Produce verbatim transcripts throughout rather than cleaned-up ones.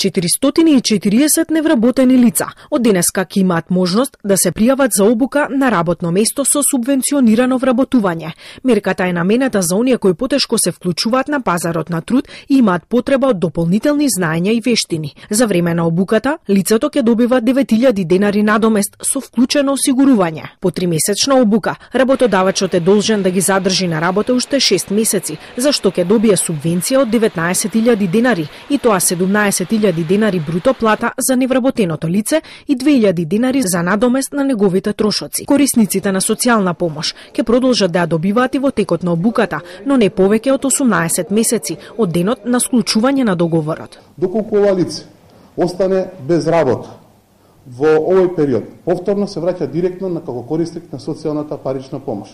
четиристотини и четириесет невработени лица од денеска ќе имаат можност да се пријават за обука на работно место со субвенционирано вработување. Мерката е наменета за оние кои потешко се вклучуваат на пазарот на труд и имаат потреба од дополнителни знаења и вештини. За време на обуката, лицето ќе добива девет илјади денари надомест со вклучено осигурување. По тримесечна обука, работодавачот е должен да ги задржи на работа уште шест месеци, за што ќе добие субвенција од деветнаесет илјади денари, и тоа седумнаесет илјади денари бруто плата за невработеното лице и две илјади денари за надомест на неговите трошоци. Корисниците на социјална помош ќе продолжат да ја добиваат и во текот на обуката, но не повеќе од осумнаесет месеци од денот на склучување на договорот. Доколку ова лице остане без работа во овој период, повторно се враќа директно на како корисник на социјалната парична помош.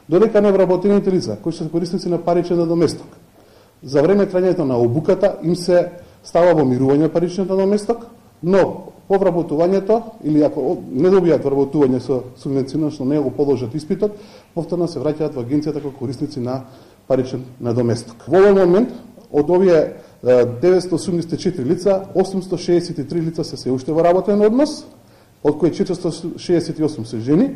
Додека невработените лица кои се корисници на паричен надоместок, за време трајањето на обуката им се става во мирување паричниот надоместок, но по вработувањето или ако не добијат вработување со субвенционирано, но не го положат испитот, повторно се враќаат во агенцијата како корисници на паричен надоместок. Во овој момент од овие деветстотини осумдесет и четири лица, осумстотини шеесет и три лица се се уште во работен однос, од кои четиристотини шеесет и осум се жени,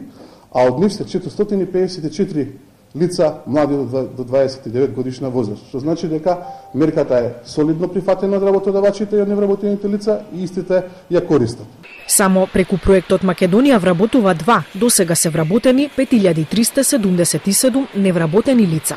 а од нив се четиристотини пеесет и четири лица млади до дваесет и девет годишна возраст, што значи дека мерката е солидно прифатена од работодавачите и од невработените лица и истите ја користат. Само преку проектот Македонија вработува два, досега се вработени пет илјади триста седумдесет и седум невработени лица.